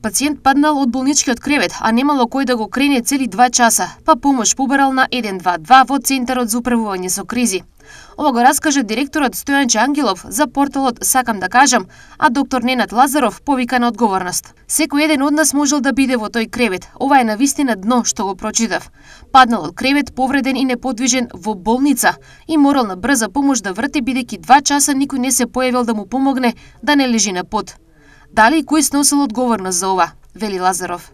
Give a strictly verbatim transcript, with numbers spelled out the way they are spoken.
Пациент паднал од болничкиот кревет, а немало кој да го крене цели два часа, па помош побарал на еден два два во Центарот за управување со кризи. Ова го раскажа директорот Стојанче Ангелов за порталот Сакам да кажам, а доктор Ненад Лазаров повика на одговорност. Секој еден од нас можел да биде во тој кревет. Ова е навистина дно што го прочитав. Паднал од кревет, повреден и неподвижен во болница и морал на брза помош да врти бидејќи два часа никој не се појавил да му помогне да не лежи на под. Дали и кој сносил одговорност за ова, вели Лазаров.